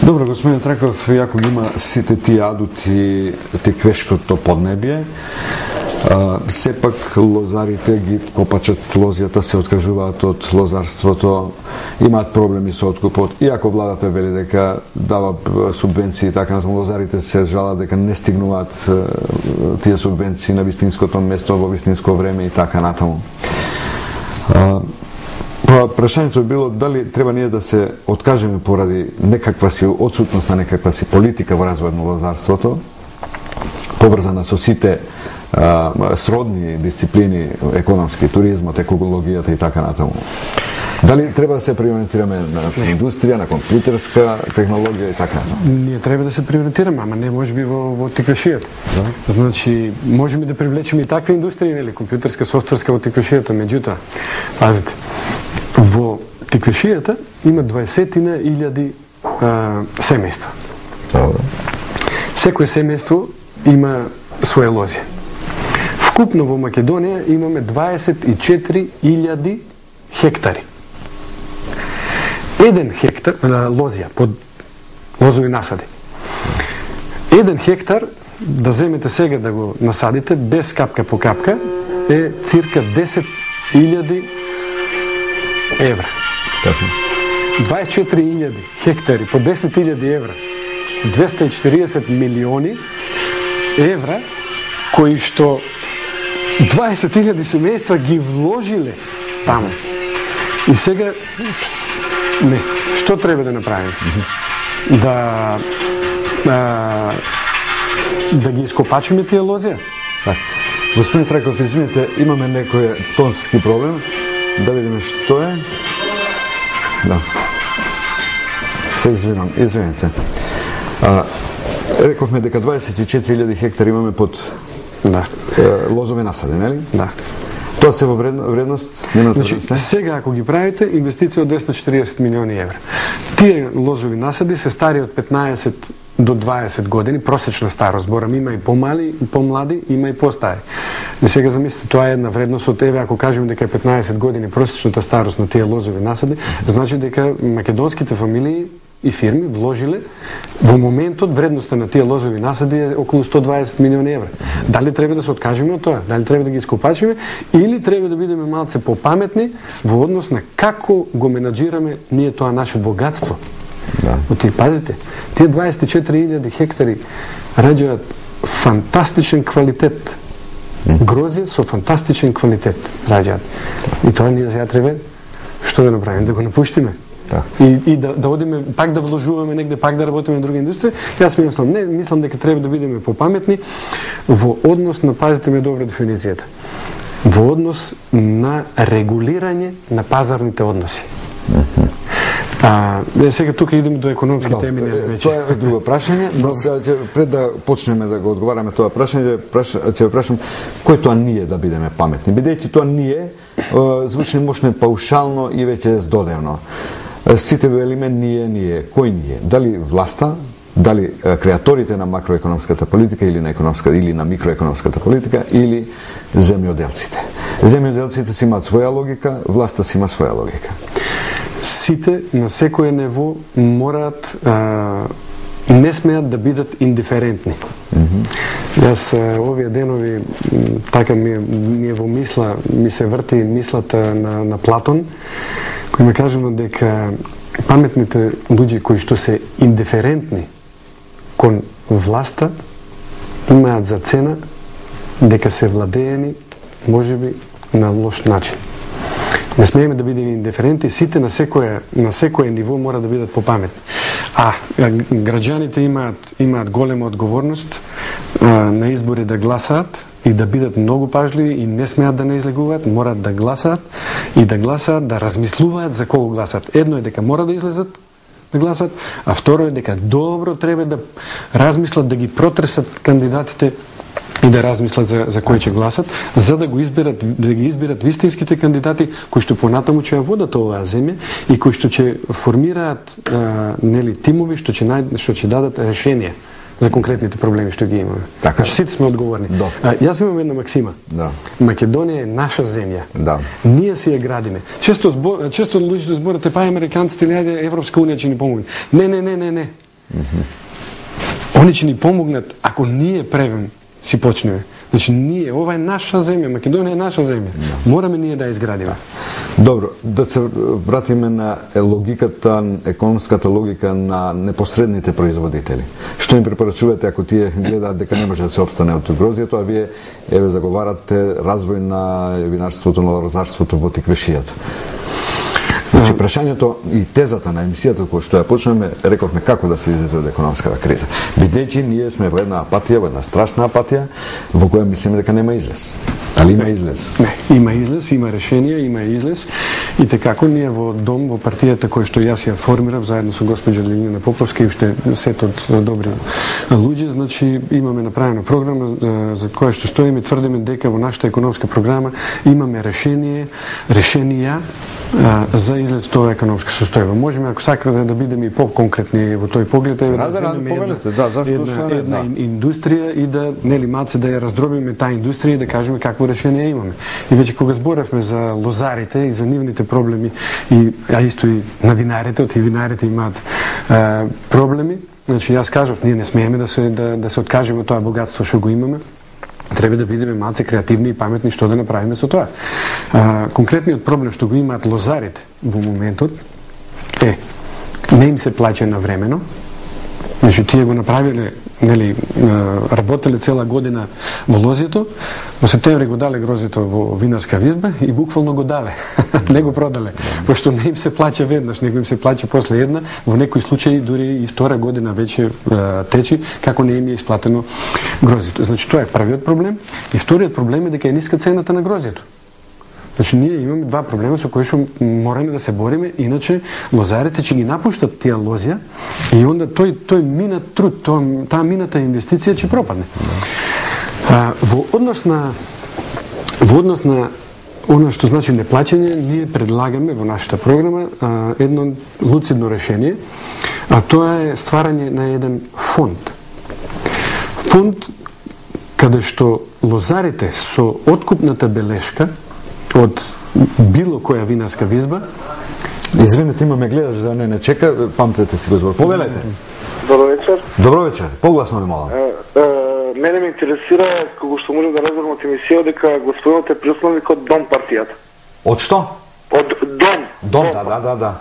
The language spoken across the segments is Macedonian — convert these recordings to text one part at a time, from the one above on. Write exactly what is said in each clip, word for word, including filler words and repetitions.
Добро, господин Траков, јако ги има сите тие адути, теквешкото поднебје, а, сепак лозарите ги копачат лозијата, се откажуваат од лозарството, имаат проблеми со откупот, иако владата вели дека дава субвенции, така натаму лозарите се жалат дека не стигнуваат тие субвенции на вистинското место во вистинско време и така натаму. А, Па, прашањето било дали треба ние да се откажеме поради некаква си отсутност на некаква си политика во развојот на лозарството, поврзана со сите а, сродни дисциплини, економски, туризмот, екологијата и така натаму. Дали треба да се приориентираме на индустрија, на компјутерска технологија и така натаму? Ние треба да се приориентираме, ама не можеби во, во теквешијата. Да. Значи, можеме да привлечеме и таква индустрија, нели, компјутерска, софтверска во теквешијата, меѓутоа, пазите, во теквешијата има дваесетина илјади семејства. Добро. Секој семејство има своја лозија. Вкупно во Македонија имаме дваесет и четири илјади хектари. Еден хектар лозија под лозови насади. Еден хектар, да земете сега да го насадите без капка по капка, е цирка десет илјади евра. Така. дваесет и четири илјади хектари по десет илјади евра, се двесте и четириесет милиони евра, кои што дваесет илјади семејства ги вложиле таму. И сега, не, што треба да направиме? Да, а, да ги ископачиме тие лозија? Так. Господин Траков, извините, имаме некој тонски проблем. Да видиме што е. Да. Се извинам, извините. А, рековме дека дваесет и четири илјади хектари имаме под да. е, лозови насади, нели? Да. Тоа се во вредно, вредност? Значи, сега ако ги правите, инвестиција од двесте и четириесет милиони евра. Тие лозови насади се стари од петнаесет до дваесет години, просечна старост, зборам, има и помали, и помлади, има и постари. И сега замислите, тоа е една вредност од еве, ако кажеме дека е петнаесет години просечната старост на тие лозови насади, значи дека македонските фамилии и фирми вложиле во моментот вредноста на тие лозови насади е околу сто дваесет милиони евра. Дали треба да се откажеме од тоа? Дали треба да ги ископачиме или треба да бидеме малце попаметни во однос на како го менаџираме ние тоа наше богатство? Да. Оти, пазите, тие дваесет и четири илјади хектари раѓаат фантастичен квалитет. Грозје со фантастичен квалитет раѓаат. И тоа ние сега треба што да направиме? Да го напуштиме? Да. И, и да, да одиме, пак да вложуваме негде, пак да работиме на друга индустрија. Јас мислам, не, мислам дека треба да бидеме попаметни во однос на, пазите ме добра дефиницијата, во однос на регулирање на пазарните односи. Mm-hmm. А, сега тука идеме до економски no, теми, не веќе. Тоа е друго прашање, но пред да почнеме да го одговараме тоа прашање, ќе прашам кој тоа ние да бидеме паметни. Бидејќи тоа ние звучи мощно паушално и веќе здодевно. Сите велиме ние, ние. Кој ние? Дали власта, дали креаторите на макроекономската политика или на економска или на микроекономската политика или земјоделците. Земјоделците си имаат своја логика, власта си има своја логика. Сите на секој ниво мораат а, не смеат да бидат индиферентни. Mm-hmm. Јас овие денови така ми, ми е во мисла, ми се врти мислата на, на Платон, кој ме кажано дека паметните луѓе кои што се индиферентни кон власта имаат за цена дека се владеени можеби на лош начин. Не смееме да бидеме индиферентни, сите на секое на секое ниво мора да бидат попаметни. А граѓаните имаат имаат голема одговорност а, на избори да гласаат и да бидат многу пажливи и не смеат да не излегуваат, морат да гласаат и да гласаат, да размислуваат за кого гласаат. Едно е дека мора да излезат да гласаат, а второ е дека добро треба да размислат, да ги протресат кандидатите и да размислат за, за кој ќе гласат, за да го изберат, да ги изберат вистинските кандидати кои што понатаму ќе ја водат оваа земја и кои што ќе формираат а, нели тимови што ќе најд, што ќе дадат решение за конкретните проблеми што ги имаме. Така. Значи сите сме одговорни. Да. А, јас имам една максима. Да. Македонија е наша земја. Да. Ние си ја градиме. Често збор, често луѓето зборат, па американците или ајде Европска унија ќе ни помогне. Не, не, не, не, не. Mm-hmm. Они ќе ни помогнат ако ние превем си почнеме. Значи, ние, ова е наша земја, Македонија е наша земја. No. Мораме ние да ја изградиме. Добро, да се вратиме на логиката, економската логика на непосредните производители. Што им препорачувате ако тие гледаат дека не може да се опстане од грозјето, а вие еве заговарате развој на винарството, на лозарството во тиквешијата? Значи, прашањето и тезата на емисијата која што ја почнеме, рековме како да се излезе од економската криза. Бидејќи ние сме во една апатија, во една страшна апатија, во која мислиме дека нема излез. Али има излез? Не, има излез, има решение, има излез. И текако ние во дом, во партијата која што јас ја формирав заедно со госпоѓа Лилина Поповска и уште сет од добри луѓе, значи имаме направена програма за која што стоиме, тврдиме дека во нашата економска програма имаме решение, решенија за излез од оваа економска состојба. Можеме, ако сакате, да бидеме и по-конкретни во тој поглед, е да земеме една, да, една, една да. индустрија и да, нели, малце да ја раздробиме таа индустрија и да кажеме какво решение имаме. И веќе кога зборевме за лозарите и за нивните проблеми, и, а исто и на винарите, од и винарите имаат а, проблеми, значи јас кажав, ние не смееме да се, да, да се откажеме од тоа богатство што го имаме, треба да бидеме малце креативни и паметни што да направиме со тоа. А, конкретниот проблем што го имаат лозарите во моментот е не им се плаќа навремено. Значи тие го направиле, нели, работеле цела година во лозјето, во септември го дале грозето во винарска визба и буквално го дале. Не го продале, пошто не им се плаќа веднаш, него им се плаќа после една, во некои случаи дури и втора година веќе течи како не им е исплатено грозето. Значи тоа е првиот проблем, и вториот проблем е дека е ниска цената на грозето. Значи ние имаме два проблема со кои што мораме да се бориме, иначе лозарите ќе ги напуштат тие лозја и онда тој тој минат труд, тој, таа мината инвестиција ќе пропадне. А, во однос на во однос на она што значи неплаќање, ние предлагаме во нашата програма а, едно луцидно решение, а тоа е стварање на еден фонд. Фонд каде што лозарите со откупната белешка од било која винарска визба. Извинете, имаме гледаш да не не чека, памтете си го збор. Повелете. Добро вечер. Добро вечер. Погласно не молам. Мене ме интересира како што можам да разберам од емисија дека господинот е приосновник од Дом партијата. Од што? Од Дом. Дом, да, да, да, да.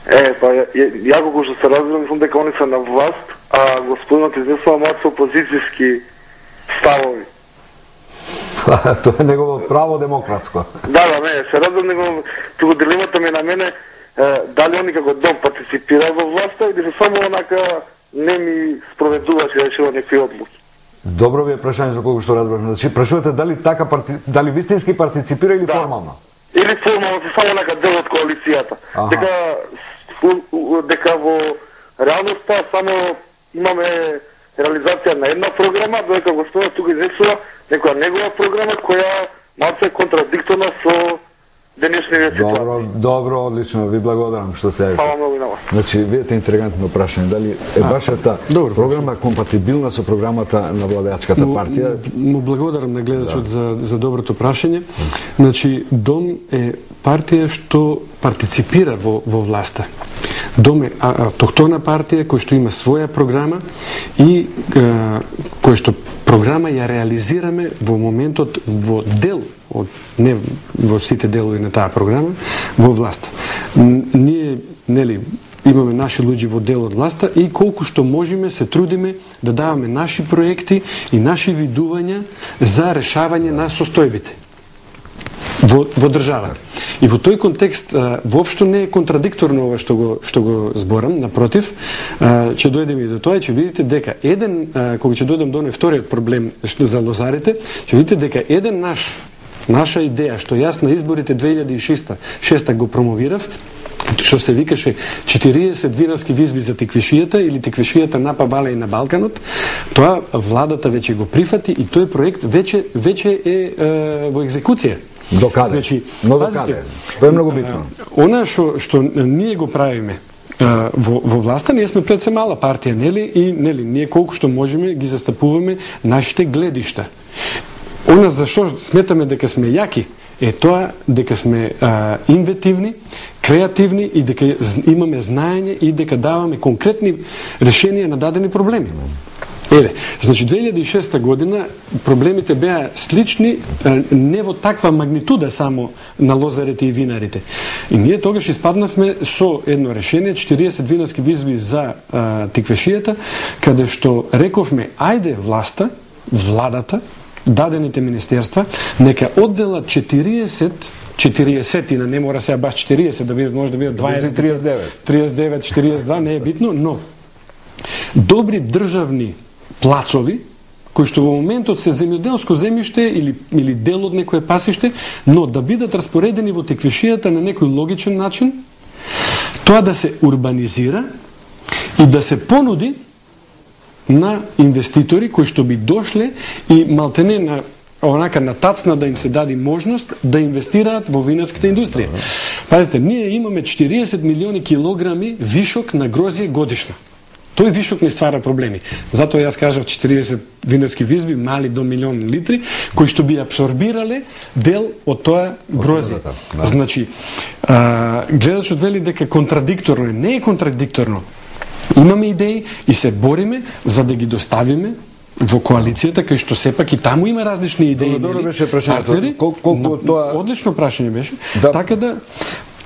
Е, па ја како што се разберам, мислам дека они се на власт, а господинот изнесува малку опозицијски ставови. Тоа е негово право демократско. Да, да, не, се разберам, него туку дилемата ми на мене дали они како Дом партиципира во власта или се само онака не ми спроведуваше да решува некои одлуки. Добро ви е прашање за колку што разбрав. Значи прашувате дали така парти... дали вистински партиципира или да. Формално? Или формално се само онака дел од коалицијата. Аха. Дека дека во реалноста само имаме реализација на една програма, додека господинот тука изнесува некоја негова програма која малце е контрадикторна со денешниот ситуација. Добро, добро, одлично, ви благодарам што се јавите. Фала многу на вас. Значи, видите интригантно прашање, дали е вашата програма компатибилна со програмата на владеачката партија? Му благодарам на гледачот да. за за доброто прашање. Значи, Дом е партија што партиципира во во власта. Дом е автохтона партија која што има своја програма и која што програма ја реализираме во моментот во дел од не во сите делови на таа програма во власта. Ние, нели, имаме наши луѓе во дел од власта и колку што можеме се трудиме да даваме наши проекти и наши видувања за решавање на состојбите во, во државата. И во тој контекст воопшто не е контрадикторно ова што го што го зборам, напротив, ќе дојдеме и до тоа, ќе видите дека еден кога ќе дојдем до вториот проблем за лозарите, ќе видите дека еден наш наша идеја што јас на изборите две илјади и шеста го промовирав, што се викаше четириесет винарски визби за тиквишијата или тиквишијата на Павале и на Балканот, тоа владата веќе го прифати и тој проект веќе веќе е, е во екзекуција. До каде? Значи, но до каде? Тоа е многу битно. Она што што ние го правиме во во власта, ние сме пред се мала партија, нели, и нели ние колку што можеме ги застапуваме нашите гледишта. Она за што сметаме дека сме јаки е тоа дека сме а, инвентивни, креативни и дека имаме знаење и дека даваме конкретни решенија на дадени проблеми. Еве, значи две илјади и шеста година проблемите беа слични, не во таква магнитуда само на лозарите и винарите. И ние тогаш испаднавме со едно решение, четириесет винаски визби за а, тиквешијата, каде што рековме, ајде власта, владата, дадените министерства, нека одделат четириесет четириесет, не мора сега баш четириесет да бидат, може да бидат дваесет, триесет и девет, триесет и девет, четириесет и два, не е битно, но добри државни плацови, кои што во моментот се земјоделско земјиште или, или дел од некое пасиште, но да бидат распоредени во теквешијата на некој логичен начин, тоа да се урбанизира и да се понуди на инвеститори кои што би дошле и малтене на онака на тацна да им се даде можност да инвестираат во винарската индустрија. Пазите, ние имаме четириесет милиони килограми вишок на грозје годишно. Тој вишок не ствара проблеми. Затоа јас кажав четириесет винарски визби, мали до милион литри, кои што би абсорбирале дел од тоа грозје. Да. Значи, а, гледачот вели дека контрадикторно е. Не е контрадикторно. Имаме идеи и се бориме за да ги доставиме во коалицијата, кај што сепак и таму има различни идеи. Добро беше прашањето. Колку тоа одлично прашање беше. Да. Така да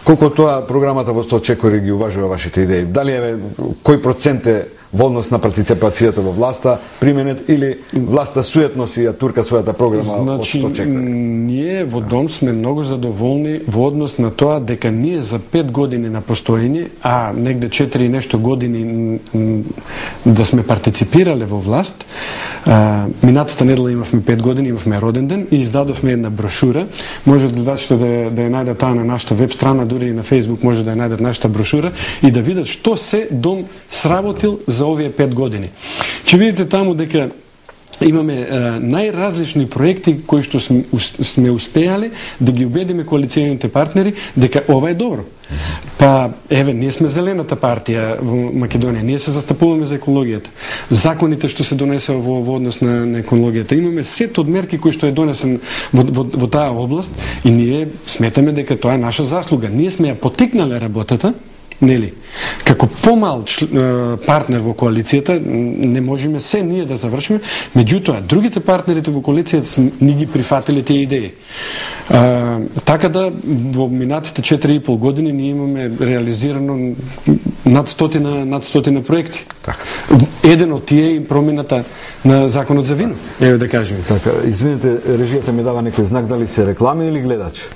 колку тоа програмата во сто чекори ги уважува вашите идеи? Дали е кој процент е во однос на партиципацијата во власта применет или власта суетно си ја турка својата програма значи, од сто чекори? Ние во Дом сме многу задоволни во однос на тоа дека ние за пет години на постоење, а негде четири и нешто години да сме партиципирале во власт, а, минатата недела имавме пет години, имавме роден ден и издадовме една брошура. Може гледачите да, да ја најдат таа на нашата веб страна, дури и на Facebook може да ја најдат нашата брошура и да видат што се Дом сработил за овие пет години. Ќе видите таму дека имаме е, најразлични проекти кои што сме, сме успеале да ги убедиме коалиционите партнери дека ова е добро. Па, еве, ние сме зелената партија во Македонија, ние се застапуваме за екологијата. Законите што се донесува во, во однос на, на екологијата. Имаме сет од мерки кои што е донесен во, во, во таа област и ние сметаме дека тоа е наша заслуга. Ние сме ја потикнале работата, нели? Како помал партнер во коалицијата не можеме се ние да завршиме, меѓутоа другите партнерите во коалицијата ни ги прифатиле тие идеи. А, така да во минатите четири и пол години ние имаме реализирано над стотина над стотина проекти. Така. Еден од тие е промената на законот за вино. Еве да кажеме. Така, извинете, режијата ми дава некој знак дали се реклами или гледач?